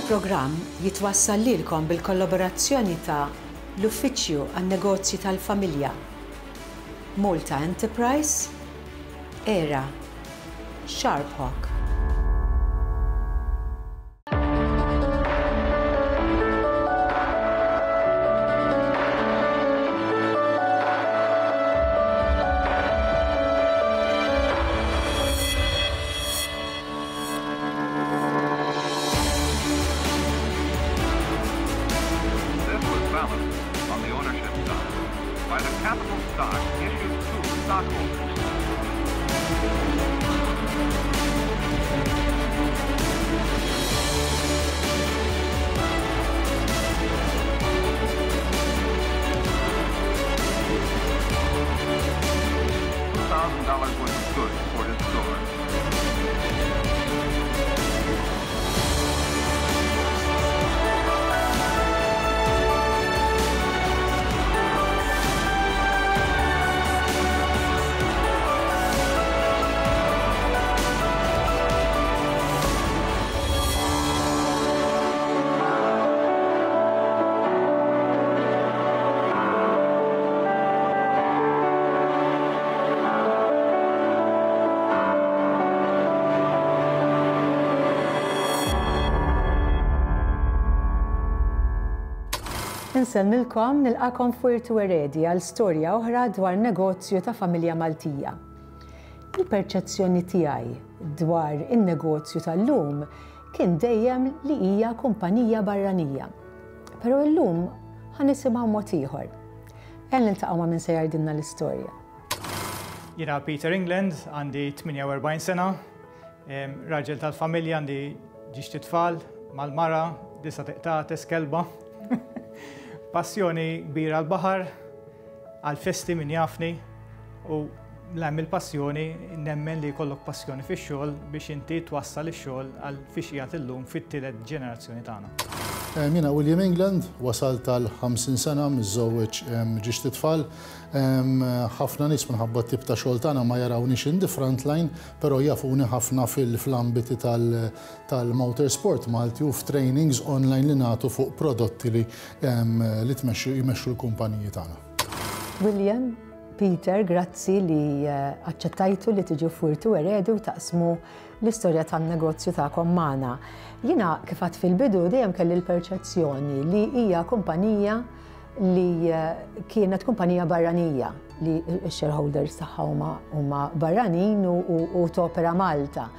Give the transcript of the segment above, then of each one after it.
il-programm jitwassal lilkom bil-kollaborazzjoni ta' l-Uffiċċju għan-Negozji tal-Familja, Malta Enterprise, era, Sharp Hawk. This was balanced on the ownership side by the capital stock issued to stockholders. $2,000 worth of goods for his store. Insellmilkom, nilqakom f'Wirtu Eredi għal storja oħra dwar negozju ta' familja Maltija. Il-perċezzjoni tiegħi dwar in-negozju tal-lum kien dejjem li hija kumpanija barranija. Però illum ħa nisimgħu mod ieħor. Ejja niltaqgħu ma' min se jgħidilna l-istorja. Jiena Peter England, għandi 48 sena, raġel tal-familja, għandi ġiex tfal, mal-mara, disa tiqtates, kelba. Passjoni kbira għall-baħar, għall-festi min jafni u l-hemm il-passjoni nemmen li jkollok passjoni fix-xogħol biex inti twassal ix-xogħol għal fiex qiegħed illum fit-tielet ġenerazzjoni tagħna. Jiena William England, wasalt għal 50 sena, miżżewweġ ġiex tfal. Ħafna nies minħabba t-tip ta' xogħol tagħna ma jarawniex in the front line, però jafuni ħafna fil-ambiti tal-motorsport Malti u f'trainings online li nagħtu fuq prodotti li li tmexxu jmexxu l-kumpaniji tagħna. William, Peter, grazzi li aċċettajtu li tiġu f'Wirtu Eredi u taqsmu l-istorja tan-negozju tagħkom magħna. Jiena kif għedt fil-bidu dejjem kelli l-perċezzjoni li hija kumpanija li kienet kumpanija barranija li x-shareholders tagħha huma barranin u topera Malta.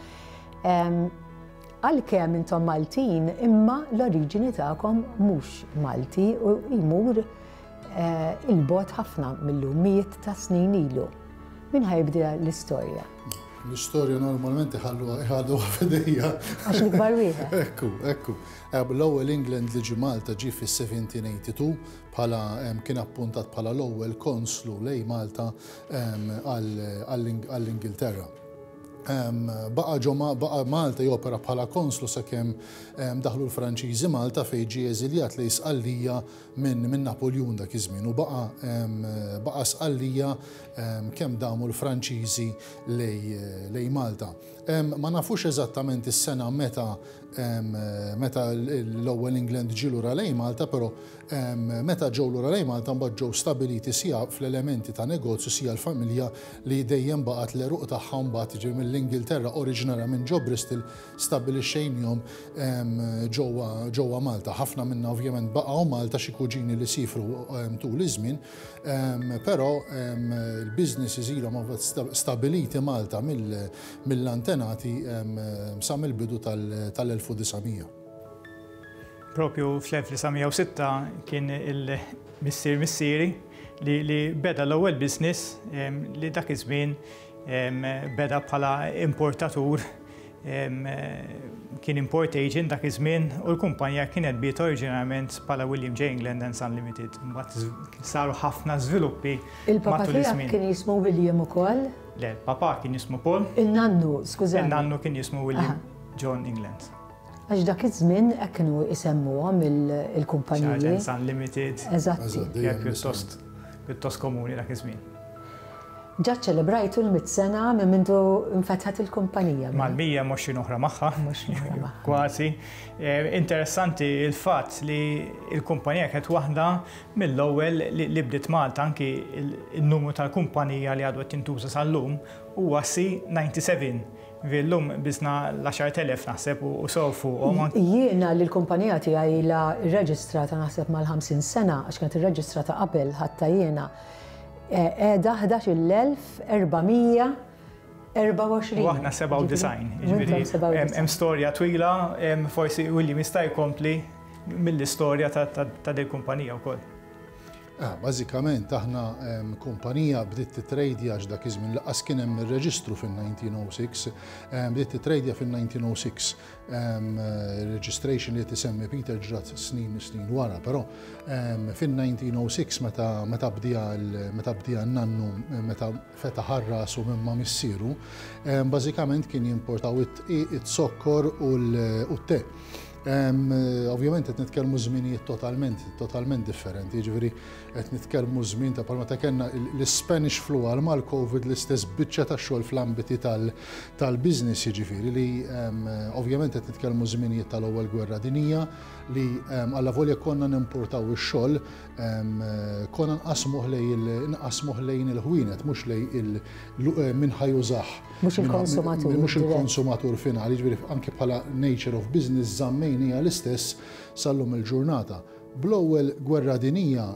Għalkemm intom Maltin, imma l-oriġini tagħkom mhux Malti u jmur il-bogħod ħafna mill-lum, mijiet ta' snin ilu. Min ħa jibda l-istorja? L-istorja normalment iħalluha iħalluha f'idejja. Għax l-ikbar wieħed. Ekku, ekku. L-ewwel England li ġie Malta ġie fis-1782 bħala kien appuntat bħala l-ewwel konslu lejn Malta għall-Ingilterra. Baqa' ġo baqa' Malta jopera bħala konslu sakemm daħlu l-Franċiżi Malta fejn ġie eżiljat lejn Sqallija minn min Napoljun dak iż-żmien u baqa' baqa' Sqallija kemm damu l-Franċiżi lejn Malta. Ma nafux eżattament is-sena meta meta l-ewwel England ġie lura lejn Malta, però meta ġew lura lejn Malta mbagħad ġew stabiliti sija fl-elementi ta' negozju sija l-familja li dejjem baqgħet l-għeruq tagħha mbagħad jiġifieri mill-Ingilterra oriġinarja minn ġo Bristol stabbilixxejnihom ġewwa ġewwa Malta. Ħafna minna ovvjament baqgħu Malta xi kuġini li siefru tul iż-żmien, però l-businesses ilhom stabiliti Malta mill-antenati sa mill-bidu tal-1900. Propju fl-1906 kien il-missier missieri li, li beda l-ewwel business li dak iż-żmien beda bħala importatur kien import agent dak iż-żmien u l-kumpanija kienet bdiet oriġinarjament bħala William J. England and Son Limited. Mbagħad saru ħafna żviluppi Il-papa matul tiegħek iż-żmien. kien jismu William ukoll? Le, il-papa kien jismu Paul. Il-nannu, skużani. Il-nannu kien jismu William John England. Għax dak iż-żmien hekk kienu jsemmuhom il-kumpaniji. Charles Son Limited. Eżatti. Eżatt. Kien pjuttost pjuttost komuni dak iż-żmien. Ġa ċċelebrajtu l-mitt sena minn mindu nfetħet il-kumpanija. Mal-120 oħra magħha. Kważi. Interessanti il-fatt li l-kumpanija kienet waħda mill-ewwel li bdiet Malta, anki n-numru tal-kumpanija li għadu qed jintuża sal-lum huwa C97. Ġifieri llum biżna l-10,000 naħseb u sew fuqhom. Jiena li l-kumpanija tiegħi ilha rreġistrata naħseb mal-50 sena, għax kienet irreġistrata qabel ħadtha jiena, Qiegħda 11,424. U aħna 97, jiġifieri hemm storja twila, forsi William jista' jkompli mill-istorja ta' din il-kumpanija wkoll. Bażikament aħna kumpanija bdiet titrejdja għax dak iż-żmien lanqas kien hemm ir-reġistru fin-1906, bdiet titrejdja fin-1906. Registration li qed isemmi Peter ġrat snin snin wara, però fin-1906 meta meta bdieha meta bdieha n-nannu meta fetaħ għal rasu minn ma' missieru, bażikament kien jimportaw id-dqiq, iz-zokkor u t-te. Ovvjament qed nitkellmu żminijiet totalment totalment differenti, jiġifieri Qed nitkellmu żmien ta' bħal meta kellna l-Spanish flu għal mal-Covid l-istess biċċa ta' xogħol fl-ambiti tal-business jiġifieri li ovvjament qed nitkellmu żminijiet tal-Ewwel Gwerra Dinjija li allavolja konna nimportaw ix-xogħol konna nqassmuh lejn nqassmuh lejn il-ħwienet mhux lejn min ħa jużah. Mhux il-konsumatur. Mhux il-konsumatur finali, jiġifieri anke bħala nature of business żammejniha l-istess sal-lum il-ġurnata. Bl-Ewwel Gwerra Dinjija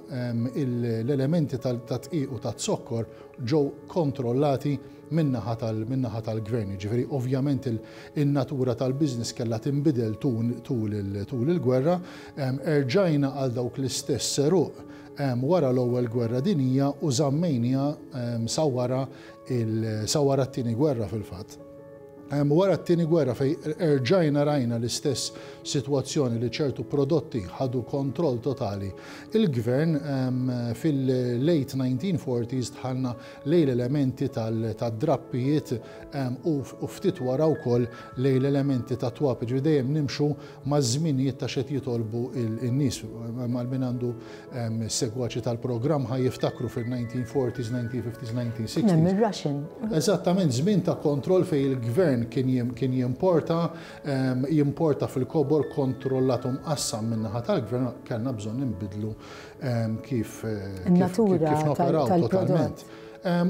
l-elementi tat-dqiq u taz-zokkor ġew kontrollati min-naħa tal-min-naħa tal-gvern. Jiġifieri ovvjament in-natura tal-business kellha tinbidel tul tul il-gwerra. Erġajna għal dawk l-istess għeruq wara l-Ewwel Gwerra Dinjija u żammejniha sa wara sa wara t-Tieni Gwerra fil-fatt. Wara t-Tieni Gwerra fejn erġajna rajna l-istess sitwazzjoni li ċertu prodotti ħadu kontroll totali il-gvern, fil-late 1940s dħalna lejn l-elementi tad-drappijiet u ftit wara wkoll lejn l-elementi tat-twab. Jiġifieri dejjem nimxu maż-żminijiet ta' x'qed jitolbu n-nies. Għal min għandu Segwaċi tal-programm ħa jiftakru fil-1940s, 1950s, 1960s. Kien hemm ir-Russian. Eżattament, żmien ta' kontroll fejn il-gvern kien kien jimporta, jimporta fil-kobor kontrollat u mqassam min-naħa tal-gvern, kellna bżonn inbiddlu kif kif noperaw totalment.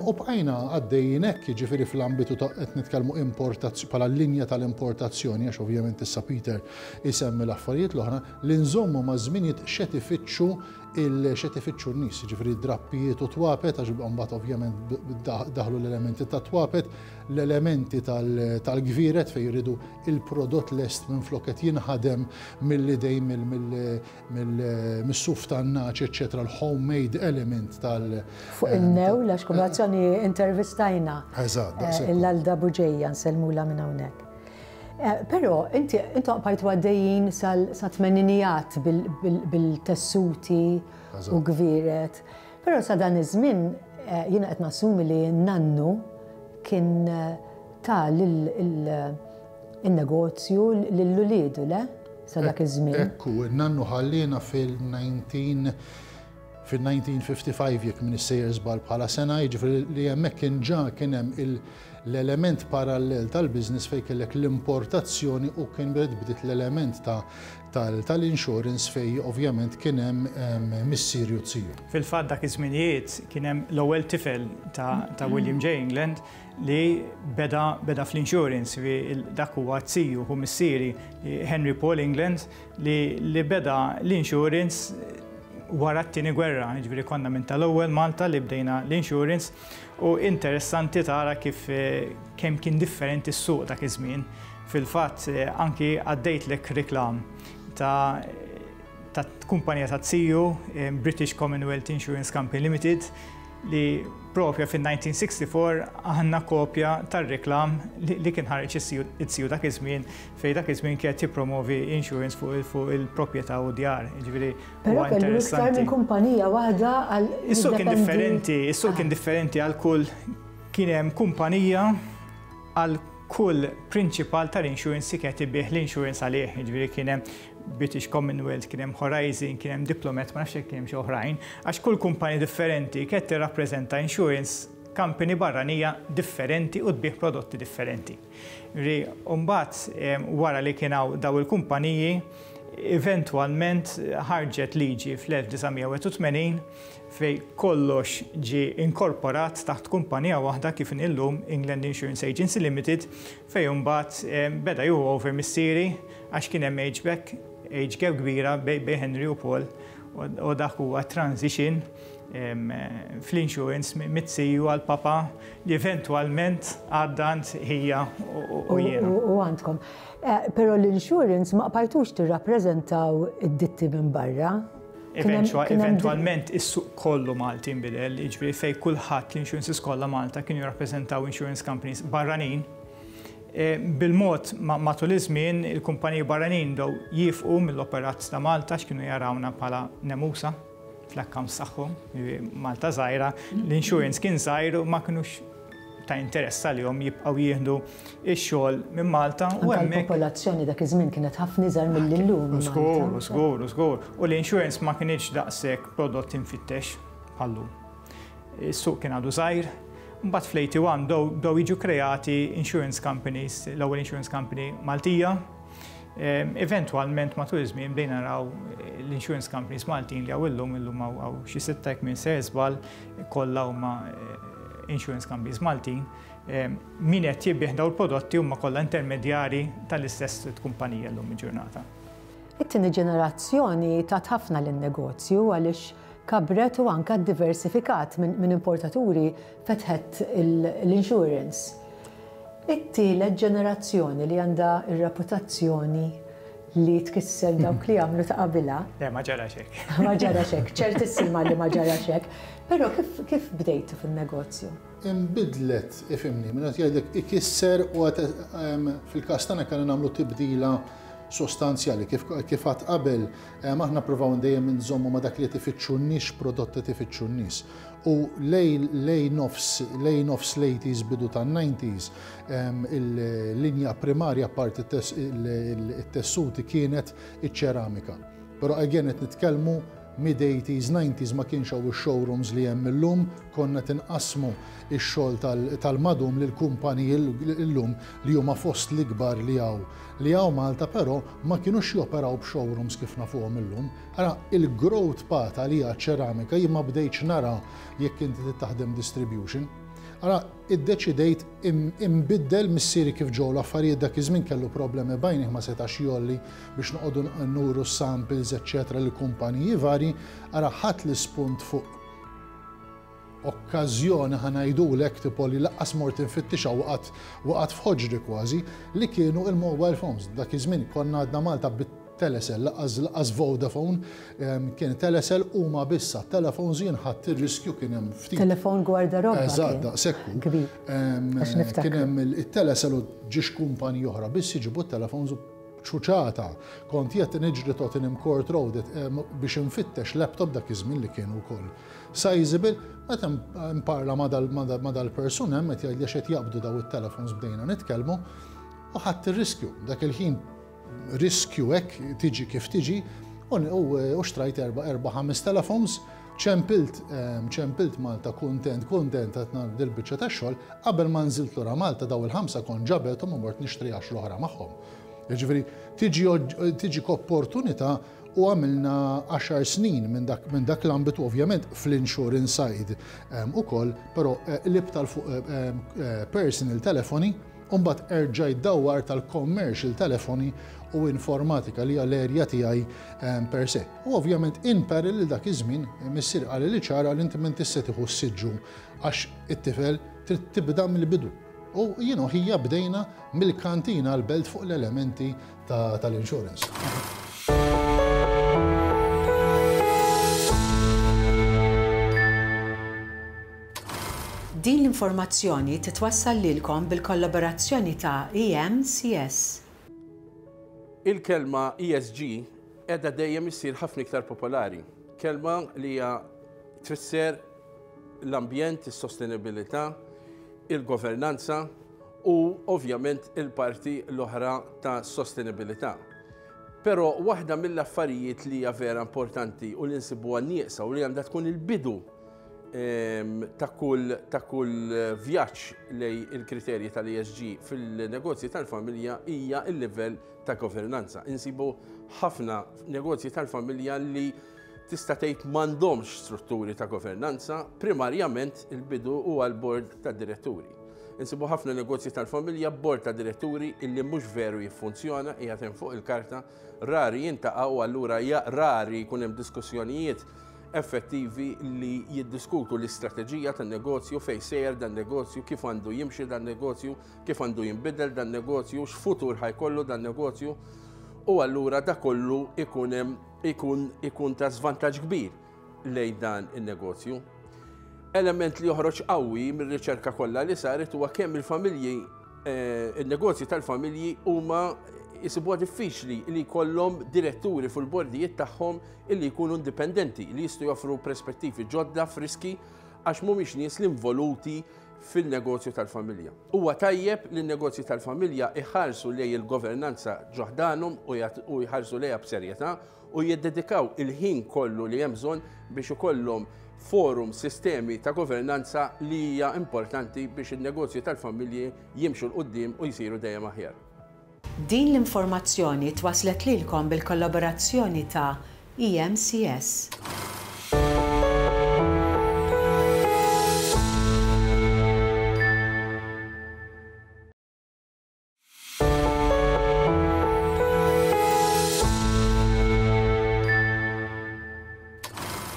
U bqajna għaddejjin hekk, jiġifieri fl-ambitu ta' qed nitkellmu importazzjoni bħala linja tal-importazzjoni, għax ovvjament issa Peter isemmi l-affarijiet l-oħra, Li nżommu maż-żminijiet x'qed ifittxu x'qed ifittxu n-nies, jiġifieri drappijiet u twapet, għax mbagħad ovvjament daħlu l-elementi tat-twapet, l-elementi tal-gvieret fejn jridu il-prodott lest minflok qed jinħadem mill-idejn mis-suf tan-nagħaġ, eċċetera, l-homemade element tal- Fuq in-newl, għax kombinazzjoni intervistajna l-Alda Buġeja, nsellmulha minn hawnhekk. Però inti intom bqajtu għaddejjin sal-tmeninijat bil-tessuti u gvieret. Però sa dan iż-żmien jiena qed nassumi li n-nannu kien ta lin-negozju lil uliedu, le? Sa dak iż-żmien. Ekku, in-nannu ħalliena fil-19 fil-1955 jekk m'iniex sejjer żball bħala sena, jiġifieri li hemmhekk kien ġa kien hemm l-element parallel tal-business fejn kellek l-importazzjoni u kien bdiet bdiet l-element ta' tal-insurance fejn ovvjament kien hemm missieri u ziju. Fil-fatt dak iż-żminijiet kien hemm l-ewwel tifel ta' William J. England li beda beda fl-insurance, dak huwa z-ziju ħu missieri Henry Paul England li li beda l-insurance wara t-Tieni Gwerra, jiġifieri konna minn tal-ewwel Malta li bdejna l-insurance u interessanti tara kif kemm kien differenti s-suq dak iż-żmien. Fil-fatt anki għaddejtlek reklam ta' ta' kumpanija ta' ziju, British Commonwealth Insurance Company Limited, li propja fin-1964 għandna kopja tar-reklam li kien ħareġ iz-ziju dak iż-żmien fejn dak iż-żmien kien qed jippromovi insurance fuq il-proprjetà u d-djar. Jiġifieri huwa interessanti. Però kellu iktar minn kumpanija waħda għal. Is-suq kien differenti, is-suq kien differenti għal kull kien hemm kumpanija għal kull prinċipal tal-insurance li kien qed ibigħ l-insurance għalih. Jiġifieri kien hemm British Commonwealth, kien hemm Horizon, kien hemm Diplomat, ma nafx jekk kien hemm xi oħrajn, għax kull kumpanija differenti kienet tirrappreżenta insurance company barranija differenti u tbigħ prodotti differenti. Ri, mbagħad wara li kien hawn daw il-kumpaniji, eventwalment ħarġet liġi fl-1981 fejn kollox ġie inkorporat taħt kumpanija waħda kif inhi llum England Insurance Agency Limited fejn imbagħad beda jieħu over missieri għax kien hemm age back, age gap kbira bejn Henry u Paul u dak huwa transition fl-insurance mit-siju għall-papa li eventwalment għadda għand ħija u jiena. U għandkom. Però l-insurance ma qbajtux tirrappreżentaw id-ditti minn barra? Eventwalment is-suq kollu Malti nbidel, jiġifieri fejn kulħadd l-insurances kollha Malta kienu jirrappreżentaw insurance companies barranin. Bil-mod matul iż-żmien il-kumpaniji barranin bdew jifqu mill-operat ta' Malta għax kienu jarawna bħala nemusa fl-accounts tagħhom, Malta żgħira, l-insurance kien żgħir u ma kinux ta' interess għalihom jibqgħu jieħdu x-xogħol minn Malta u hemmhekk. Il-popolazzjoni dak iż-żmien kienet ħafna iżgħar milli llum. Żgur, żgur, żgur. U l-insurance ma kinitx daqshekk prodott imfittex bħal-lum. Is-suq kien għadu żgħir. Mbagħad fl-81 bdew jiġu kreati insurance companies, l-ewwel insurance company Maltija. Eventwalment matul iż-żmien bdejna naraw l-insurance companies Maltin li hawn illum, illum hawn xi sitta jekk minn se żball, kollha huma insurance companies Maltin. Min qed jibigħ dawn il-prodotti huma kollha intermedjari tal-istess kumpanija llum il-ġurnata. It-tieni ġenerazzjoni tat ħafna lin-negozju għaliex kabret u anke ddiversifikat minn importaturi fetħet l-insurance. It-tielet ġenerazzjoni li għandha r-reputazzjoni li tkisser dawk li għamlu ta' qabilha. Le, ma ġarax hekk. Ma ġarax hekk, ċertissima li ma ġarax hekk. Però kif, kif bdejtu fin-negozju? Inbidlet, ifhimni, minn qed jgħidlek ikisser u għad fil-każ tagħna kellna nagħmlu tibdila sostanzjali. Kif kif għad qabel, aħna provaw dejjem inżommu ma' dak li qed ifittxu n-nies, x'prodott qed ifittxu n-nies. U lejn lejn nofs lejn nofs l-eighties bidu tan-nineties, il-linja primarja apparti t-tessuti kienet iċ-ċeramika. Però again qed nitkellmu mid-eighties, nineties ma kienx hawn ix-showrooms li hemm illum, konna qed inqassmu x-xogħol tal-madum lil kumpaniji illum li huma fost l-ikbar li hawn li hawn Malta però ma kinux joperaw b'showrooms kif nafuhom illum. Ara, il-growth path għalija ċ-ċeramika jien ma bdejtx nara jekk inti trid taħdem distribution. Ara, iddeċidejt inbiddel missieri kif ġew l-affarijiet dak iż-żmien kellu problemi b'għajnih ma setax jgħolli biex noqogħdu nuru s-samples eċċetera lill-kumpaniji varji. Ara, ħadt l-ispunt fuq okkażjoni ħa ngħidulek tipo li laqqas mort infittixha waqgħet waqgħet f'ħoġri kważi li kienu il-mobile phones. Dak iż-żmien konna għadna Malta bit-Telecel laqqas laqqas Vodafone kien Telecel huma biss għat-telephones jien ħadt ir-riskju kien hemm ftit. Telefon gwardarobba. Eżatt daqshekk hu. Kbir. Għax niftakru. Kien hemm it-Telecel u ġiex kumpaniji oħra biss jiġibu t-telephones u ċuċata. Kont jgħid niġri Tottenham Court Road biex infittex laptop dak iż-żmien li kienu wkoll Sizable, meta nparla ma' dal-persuna hemm qed jgħidli għax qed jaqbdu daw it-telefons bdejna nitkellmu u ħadt ir-riskju. Dak il-ħin riskju hekk tiġi kif tiġi u xtrajt erba' ħames telefons, ċempilt ċempilt Malta kuntent kuntent qed nagħmel dil-biċċa tax-xogħol, qabel ma nżilt lura Malta daw il-ħamsa kont ġabethom u mort nixtri għaxra oħra magħhom. Jiġifieri tiġi tiġik opportunità U għamilna għaxar snin minn dak, minn dak l-ambitu ovvjament fl-insurance side ukoll, però qlibt għal fuq personal telefoni u mbagħad erġajt dawwart għal commercial telefoni u informatika li hija l-area tiegħi per se. U ovvjament in parallel dak iż-żmien missieri qali li ċara li inti m'intix se tieħu s-siġġu għax it-tifel trid tibda mill-bidu. U jien u ħija bdejna mill-kantina l-belt fuq l-elementi tal-insurance. Din l-informazzjoni titwassal lilkom bil-kollaborazzjoni ta' EMCS. Il-kelma ESG qiegħda dejjem issir ħafna iktar popolari. Kelma li hija tfisser l-ambjent, is-sostenibilità, il-governanza u ovvjament il-parti l-oħra ta' sostenibilità. Però waħda mill-affarijiet li hija vera importanti u li nsibuha nieqsa u li għandha tkun il-bidu. ta' kull ta' kull vjaġġ lejn il-kriterji tal-ESG fil-negozji tal-familja hija l-livell ta' governanza. Insibu ħafna negozji tal-familja li tista' tgħid m'għandhomx strutturi ta' governanza, primarjament il-bidu huwa l-bord tad-diretturi. Insibu ħafna negozji tal-familja b'bord ta' diretturi illi mhux veru jiffunzjona, qiegħed hemm fuq il-karta, rari jintaqgħu allura rari jkun hemm diskussjonijiet effettivi li jiddiskutu l-istrateġija tan-negozju, fejn sejjer dan-negozju, kif għandu jimxi dan-negozju, kif għandu jinbidel dan-negozju, x'futur ħa jkollu dan-negozju u allura da kollu ikun hemm ikun ikun ta' żvantaġġ kbir lejn dan in-negozju. Element li joħroġ qawwi mir-riċerka kollha li saret huwa kemm il-familji eh, il-negozji tal-familji huma jisibuha diffiċli li jkollhom diretturi fil-bordijiet tagħhom illi jkunu indipendenti, li jistgħu joffru perspettivi ġodda, friski, għax mhumiex nies li involuti fin-negozju tal-familja. Huwa tajjeb li n-negozji tal-familja iħarsu lejn il-governanza ġo ħdanhom u jħarsu lejha b'serjetà u jiddedikaw il-ħin kollu li hemm bżonn biex ikollhom forum, sistemi ta' governanza li hija importanti biex in-negozji tal-familji jimxu 'l quddiem u jsiru dejjem aħjar. Din l-informazzjoni twasslet lilkom bil-kollaborazzjoni ta' EMCS.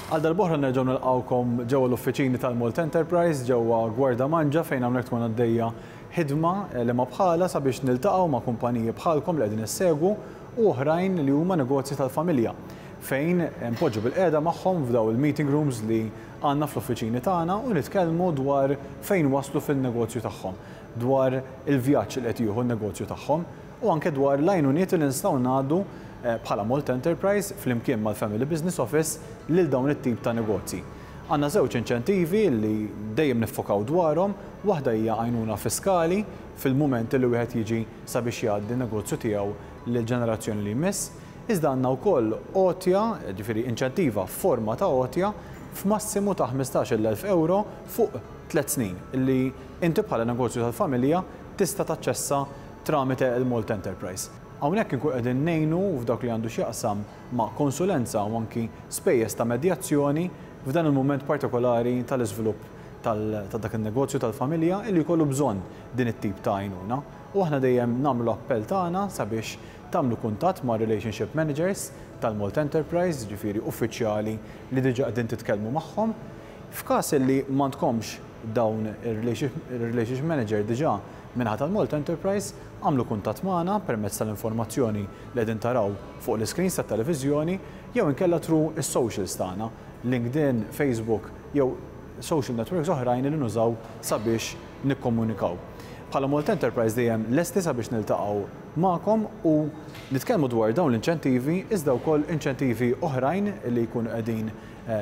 Għal darb'oħra nerġgħu nilqgħukom ġewwa l-uffiċini tal-Malta Enterprise ġewwa Gwardamanġa fejn hawnhekk tkun għaddejja ħidma li ma bħalha sabiex niltaqgħu ma' kumpaniji bħalkom li qegħdin issegwu u oħrajn li huma negozji tal-familja fejn npoġġu bilqiegħda magħhom f'dawn il-meeting rooms li għandna fl-uffiċini tagħna u nitkellmu dwar fejn waslu fin-negozju tagħhom. dwar il-vjaġġ li qed jieħu n-negozju tagħhom u anke dwar l-għajnuniet li nistgħu ngħaddu bħala Malta Enterprise flimkien mal-Family Business Office lil dawn it-tip ta' negozji. Għandna żewġ inċentivi li dejjem niffokaw dwarhom, waħda hija għajnuna fiskali fil-mument li wieħed jiġi sabiex jgħaddi n-negozju tiegħu lill-ġenerazzjoni li jmiss, iżda għandna wkoll għotja, jiġifieri inċentiva f'forma ta' għotja f'massimu ta' 15-il elf ewro fuq tliet snin li inti bħala negozju tal-familja tista' taċċessa tramite il-Malta Enterprise. Hawnhekk inkun qegħdin ngħinu f'dawk li għandu x'jaqsam ma' konsulenza u anki spejjeż ta' medjazzjoni f'dan il-mument partikolari tal-iżvilupp ta' dak in-negozju tal-familja illi jkollu bżonn din it-tip ta' għajnuna. U aħna dejjem nagħmlu l-appell tagħna sabiex tagħmlu kuntatt ma' relationship managers tal-Malta Enterprise, jiġifieri uffiċjali li diġà qegħdin titkellmu magħhom. F'każ li m'għandkomx dawn ir-relationship manager diġà min-naħa tal-Malta Enterprise, agħmlu kuntatt magħna permezz tal-informazzjoni li qegħdin taraw fuq l-iscreens tat-televiżjoni jew inkella through is-socials tagħna, LinkedIn, Facebook jew social networks oħrajn li nużaw sabiex nikkomunikaw. Bħala Malta Enterprise dejjem lesti sabiex niltaqgħu magħkom u nitkellmu dwar dawn l-inċentivi iżda wkoll inċentivi oħrajn li jkunu qegħdin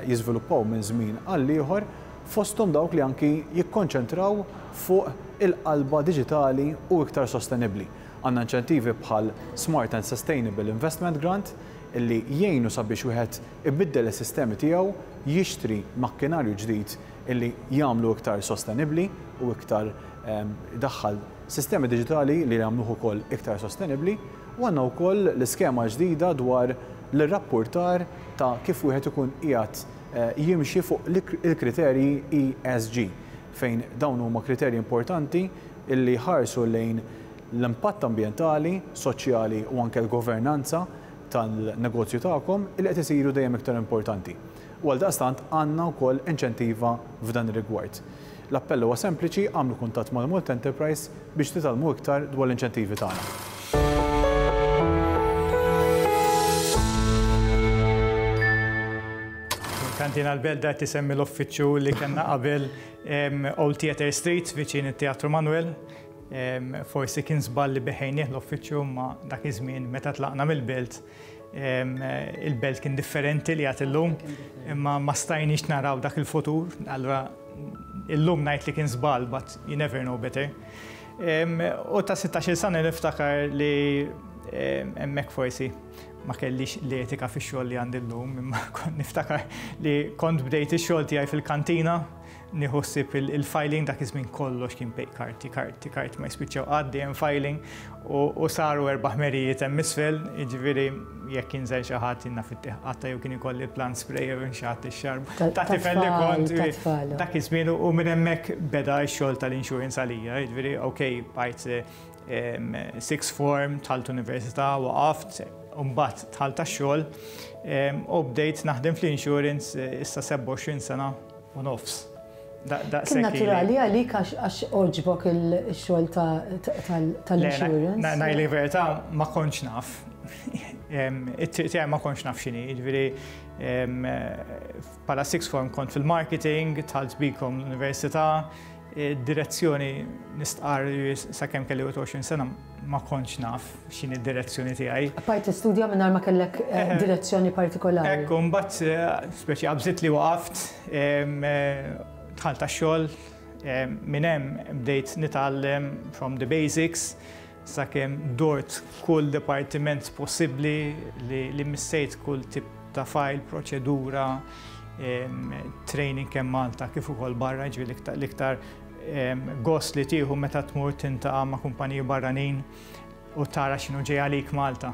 jiżviluppaw minn żmien għal ieħor, fosthom dawk li anki jikkonċentraw fuq il-qalba diġitali u iktar sostenibbli. Għandna inċentivi bħal Smart and Sustainable Investment Grant illi jgħinu sabiex wieħed ibiddel is-sistemi tiegħu, jixtri makkinarju ġdid illi jagħmlu iktar sostenibbli u iktar idaħħal sistemi diġitali li jagħmluh ukoll iktar sostenibbli u għandna wkoll l-iskema l-ġdida dwar l-irrappurtar ta' kif wieħed ikun qiegħed jimxi fuq il-kriterji ESG, fejn dawn huma kriterji importanti li jħarsu lejn l-impatt ambjentali, soċjali u anke l-governanza tan-negozju tagħkom li qed isiru dejjem iktar importanti. U għaldaqstant għandna wkoll inċentiva f'dan ir-rigward. L-appell huwa sempliċi, agħmlu kuntatt mal-Malta Enterprise biex titgħallmu iktar dwar l-inċentivi tagħna. Kantina l-Belda qed isemmi l-uffiċċju li kellna qabel Old Theatre Street viċin it-Teatru Manuel. Forsi kien żball li beħejnieh l-uffiċċju ma dak iż-żmien meta tlaqna mill-belt il-belt kien differenti li għad illum, imma ma stajniex naraw dak il-futur, allura illum ngħid li kien żball, but you never know better. U ta' 16 sena niftakar li Hemmhekk forsi ma kellix l-etika fix-xogħol li għandi llum, imma kont niftakar li kont bdejt ix-xogħol tiegħi fil-kantina, nieħu ħsieb il-filing dak iż-żmien kollox kien pej karti, karti, karti ma jispiċċaw qatt dejjem filing u saru erba' ħmerijiet hemm isfel, jiġifieri jekk jinżel xi ħadd jiena fit-tieħ qatta jew kien ikolli plant spray jew xi ħadd ix-xarb. Ta' tifel li kont dak iż-żmien u minn hemmhekk beda x-xogħol tal-insurance għalija, jiġifieri okej bqajt sixth form, dħalt università, waqaft, u mbagħad dħalt għax-xogħol u bdejt naħdem fl-insurance issa 27 sena u nofs. Kien naturali għalik għax għoġbok il-xogħol tal-insurance? Ngħid li verità ma kontx naf. It-triq tiegħi ma kontx naf x'inhi, jiġifieri bħala sixth form kont fil-marketing, dħalt bikom l-università, Direzzjoni nistqarr li sakemm kelli 21 sena ma kontx naf x'inhi d-direzzjoni tiegħi. Bqajt tistudja mingħajr ma kellek direzzjoni partikolari. Ekku, mbagħad speċi qabżit li waqaft, dħalt għax-xogħol, minn hemm bdejt nitgħallem from the basics sakemm dort kull dipartiment possibbli li missejt kull tip ta' file, proċedura, training kemm Malta kif ukoll barra, ġifieri l-iktar gost li tieħu meta tmur tintaqa' ma' kumpaniji barranin u tara x'inhu ġej għalik Malta.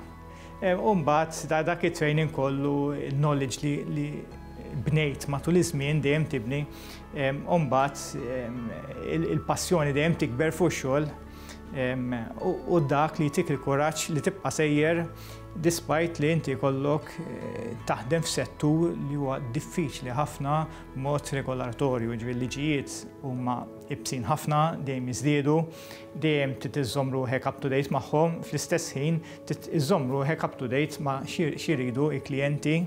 U mbagħad dak it-training kollu, il-knowledge li bnejt matul iż-żmien dejjem tibni, u mbagħad il-passjoni dejjem tikber fuq xogħol u dak li jtik il-kuraġġ li tibqa' sejjer despite li inti jkollok taħdem f'settur li huwa diffiċli ħafna b'mod regolatorju, jiġifieri l-liġijiet huma ibsin ħafna, dejjem jiżdiedu, dejjem trid iżżomm ruħek up to date magħhom, fl-istess ħin trid iżżomm ruħek up to date ma' x'iridu l-klijenti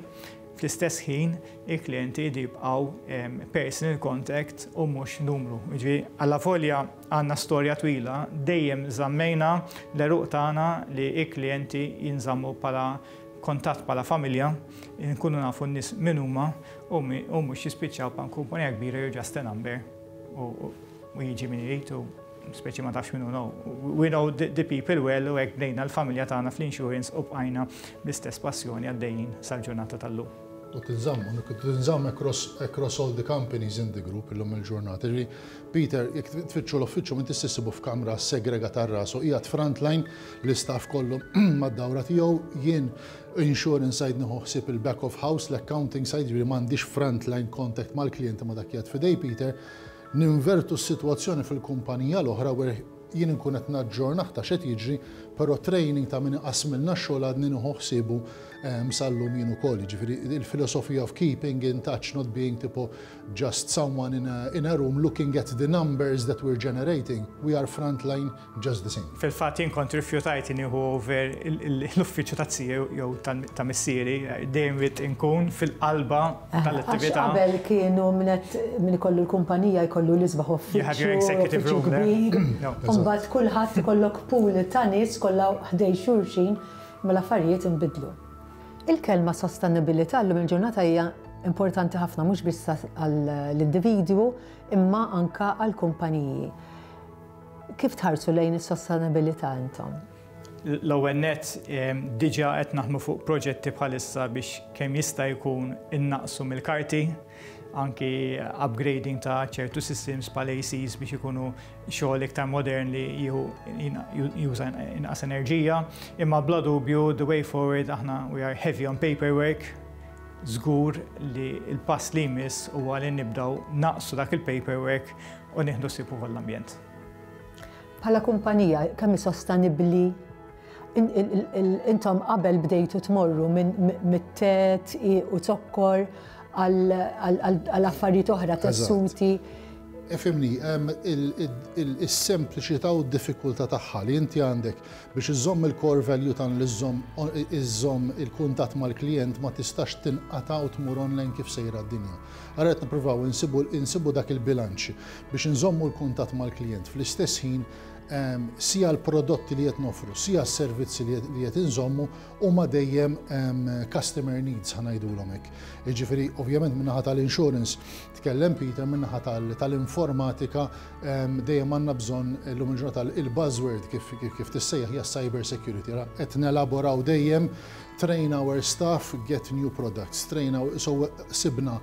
Fl-istess ħin, il-klijenti jridu jibqgħu personal contact u mhux numru. Jiġifieri, allavolja għandna storja twila, dejjem żammejna l-għeruq tagħna li l-klijenti jinżammu bħala kuntatt bħala familja, inkunu nafu n-nies min huma u mhux jispiċċaw bħal kumpanija kbira you're just a number u jiġi min irid u speċi ma tafx min hu no. We know the people well u hekk bnejna l-familja tagħna fl-insurance u bqajna bl-istess passjoni għaddejjin sal-ġurnata tal-lum. U tinżamm, u tinżamm across, across all the companies in the group illum il-ġurnata. Ġifieri, Peter, jekk tfittxu l-uffiċċju m'intix se ssibu f'kamra segregata għal rasu, qiegħed frontline, l-istaff kollu mad-dawra tiegħu, jien insurance side nieħu ħsieb il-back of house, l-accounting side, ġifieri m'għandix frontline contact mal-klijenti ma dak qiegħed f'idej Peter, Ninvertu s-sitwazzjoni fil-kumpanija l-oħra where jien inkun qed naġġornah ta' x'qed jiġri, però training ta' min iqassmilna x-xogħol għadni nieħu ħsiebu sal-lum jien ukoll. Jiġifieri il-filosofija of keeping in touch, not being tipo just someone in a, in a room looking at the numbers that we're generating, we are frontline just the same. Fil-fatt jien kont rifjutajt nieħu over l-uffiċċju ta' zija jew ta' missieri, dejjem ridt inkun fil-qalba tal-attività. Għax qabel kienu min ikollu l-kumpanija jkollu l-isbaħ uffiċċju, uffiċċju kbir, u mbagħad kulħadd ikollok pool ta' nies kollha ħdejn xulxin, imma l-affarijiet inbidlu. Il-kelma sostenibilità llum il-ġurnata hija importanti ħafna mhux biss għall-individwu imma anke għall-kumpaniji. Kif tħarsu lejn is-sostenabilità intom? L-ewwel nett, diġà qed naħdmu fuq proġetti bħalissa biex kemm jista' jkun innaqqsu mill-karti, anki upgrading ta' ċertu systems bħal ACs biex ikunu xogħol iktar modern li jieħu juża inqas enerġija. Imma bla dubju, the way forward aħna we are heavy on paperwork, żgur li l-pass li jmiss huwa li nibdew naqsu dak il-paperwork u nieħdu ħsieb ukoll l-ambjent. Bħala kumpanija, kemm hi sostenibbli? Intom qabel bdejtu tmorru minn mit-te, dqiq u zokkor għal affarijiet oħra, tessuti. Ifhimni, is-sempliċità u d-diffikultà tagħha li inti għandek biex iżżomm il-core value tagħna li żżomm il-kuntatt mal-klijent ma tistax tinqata' u tmur online kif sejra d-dinja. Allura qed nippruvaw insibu insibu dak il-bilanċ biex inżommu l-kuntatt mal-klijent fl-istess ħin Sija l-prodotti li qed noffru, sija s-servizzi li qed inżommu huma dejjem customer needs ħa ngħidulhom hekk. Jiġifieri ovvjament min-naħa tal-insurance tkellem Peter, min-naħa tal-informatika dejjem għandna bżonn illum il-ġurnata il-buzzword kif tissejjaħ hija cyber security. Qed nelaboraw dejjem train our staff, get new products, train our, so sibna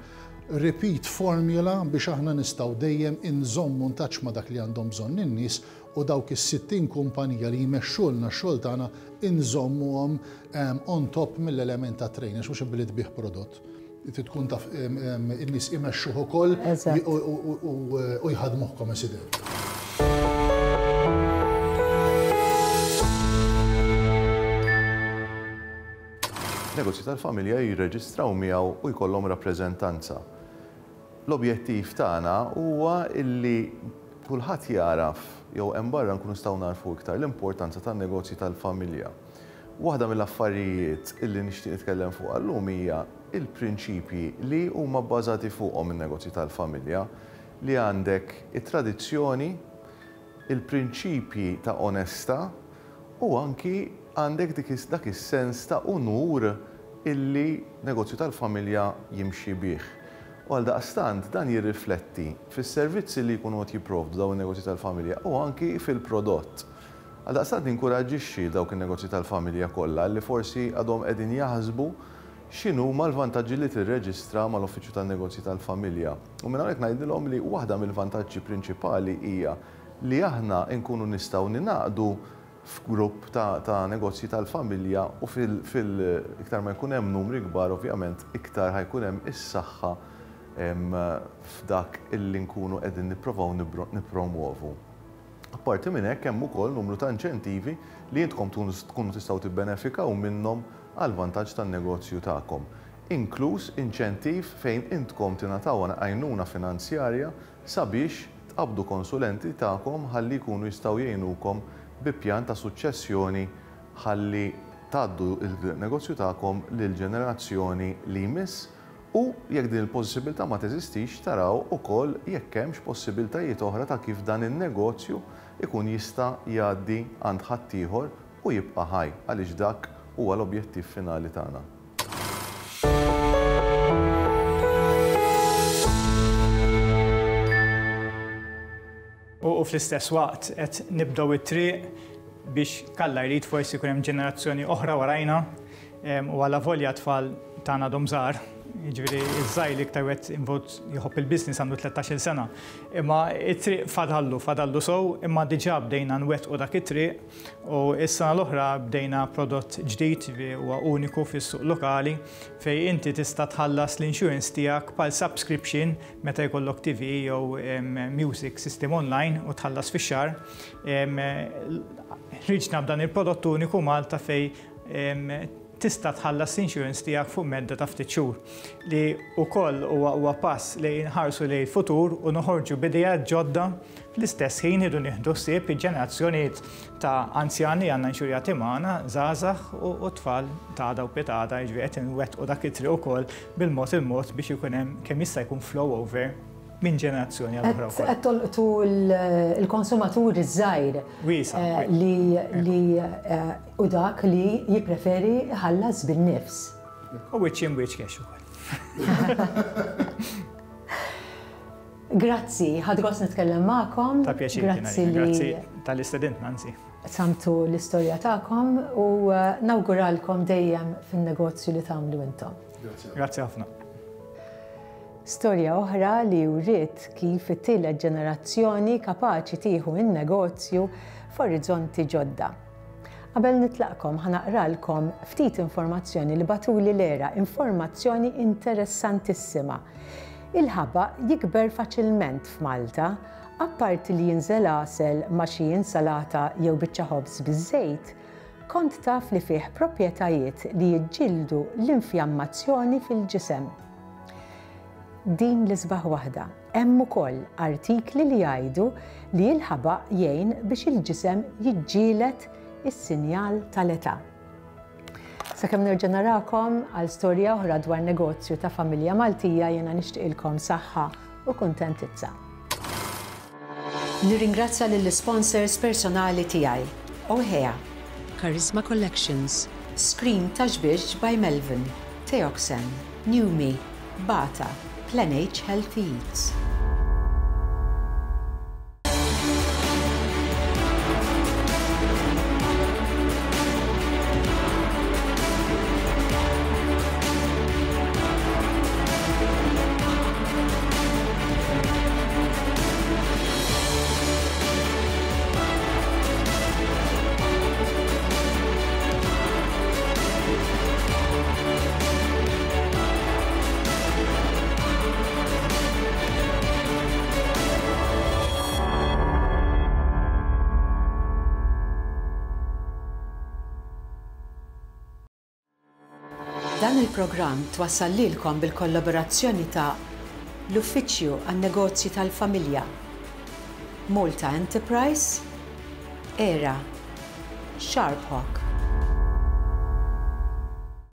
repeat formula biex aħna nistgħu dejjem inżommu in touch ma' dak li għandhom bżonn in-nies u dawk is-60 kumpanija li jmexxulna x-xogħol tagħna inżommuhom on top mill-element ta' training, għax mhux billi tbigħ prodott. Trid tkun taf in-nies imexxuh ukoll u jħaddmuh come si deve. Negozji tal-familja jirreġistraw miegħu u jkollhom rappreżentanza. L-objettiv tagħna huwa illi kulħadd jagħraf jew hemm barra nkunu nistgħu nagħrfu iktar l-importanza tan-negozji tal-familja. Waħda mill-affarijiet illi nixtieq nitkellem fuqha llum hija l-prinċipji li huma bbażati fuqhom in-negozji tal-familja, li għandek it-tradizzjoni, il-prinċipji ta' onestà u anki għandek dik dak is-sens ta' unur illi negozju tal-familja jimxi bih. U għaldaqstant dan jirrifletti fis-servizzi li jkunu qed jipprovdu dawn in-negozji tal-familja u anki fil-prodott. Għaldaqstant ninkuraġġixxi dawk in-negozji tal-familja kollha li forsi għadhom qegħdin jaħsbu x'inhuma l-vantaġġi li tirreġistra mal-Uffiċċju tan-Negozji tal-Familja. U minn hawnhekk ngħidilhom li waħda mill-vantaġġi prinċipali hija li aħna nkunu nistgħu ningħaqdu f'grupp ta' negozji tal-familja u fil iktar ma jkun hemm numri kbar ovvjament iktar ħa jkun hemm is-saħħa f'dak illi nkunu qegħdin nipprovaw nippromwovu. Apparti minn hekk hemm ukoll numru ta' inċentivi li intkom tkunu tistgħu tibbenefikaw minnhom għall-vantaġġ tan-negozju tagħkom, inkluż inċentiv fejn intkom tingħataw għajnuna finanzjarja sabiex tqabbdu konsulenti tagħkom ħalli jkunu jistgħu jgħinukom bi pjan ta' suċċessjoni ħalli tgħaddu l-negozju tagħkom lill-ġenerazzjoni li jmiss u jekk din il-possibilità ma teżistix taraw ukoll jekk hemmx possibiltajiet oħra ta' kif dan in-negozju jkun jista' jgħaddi għand ħaddieħor u jibqa' ħaj għaliex dak huwa l-objettiv finali tagħna. U fl-istess waqt qed nibdew it-triq biex kalla jrid forsi jkun hemm ġenerazzjoni oħra warajna u allavolja t-tfal tagħna għadhom żgħar, jiġifieri ż-żgħir l-iktar wieħed involt jħobb il-business għandu 13-il sena. Imma t-triq fadallu, fadallu sew, imma diġà bdejna nwettqu dak it-triq u s-sena l-oħra bdejna prodott ġdid, jiġifieri huwa uniku fis-suq lokali, fejn inti tista' tħallas l-insurance tiegħek bħal subscription meta jkollok TV jew music system online u tħallas fix-xahar. Ħriġna b'dan il-prodott uniku Malta fejn tista' tħallas l-insurance tiegħek fuq medda ta' ftit xhur, li wkoll huwa huwa pass li nħarsu lejn il-futur u noħorġu b'ideat ġodda fl-istess ħin irridu nieħdu ħsieb il-ġenerazzjonijiet ta' anzjani li għandna inxurjati magħna, żgħażagħ u tfal ta' għada u pitgħada, jiġifieri qed inwettqu dak it-triq ukoll bil-mod il-mod biex ikun hemm kemm jista' jkun flow over minn ġenerazzjoni għal oħra wkoll. Qed tolqtu l-konsumatur iż-żgħir li li hu dak li jippreferi jħallas bin-nifs. U wiċċ imwiċċ cash ukoll. Grazzi, ħadt gost nitkellem magħkom. Ta' pjaċir. Grazzi li. Grazzi talli stedintna, anzi. Qsamtu l-istorja tagħkom u nawguralkom dejjem fin-negozju li tagħmlu intom. Grazzi ħafna. Storja oħra li wriet kif it-tielet ġenerazzjoni kapaċi tieħu n-negozju f'orizzonti ġodda. Qabel nitlaqkom ħa naqralkom ftit informazzjoni li bagħtuli l-ERA, informazzjoni interessantissima. Il-ħabaq jikber faċilment f'Malta, apparti li jinżel għasel ma' xi insalata jew biċċa ħobż biż-żejt, kont taf li fih proprjetajiet li jiġġieldu l-infjammazzjoni fil-ġisem. Din l-isbaħ waħda. Hemm ukoll artikli li jgħidu li l-ħabaq jgħin biex il-ġisem jiġġieled is-sinjal tal-età. Sakemm nerġa' narakom għal storja oħra dwar negozju ta' familja Maltija jiena nixtieqilkom saħħa u kuntentizza. Nirringrazzja lill-isponsors personali tiegħi, Ohea, Charisma Collections, Screen ta' Xbiex by Melvin, Teoxane, Newme, Bata, Plan H Healthy Eats. Dan il-programm twassal lilkom bil-kollaborazzjoni ta' l-Uffiċċju għan-Negozji tal-Familja, Malta Enterprise, Era, Sharp Hawk.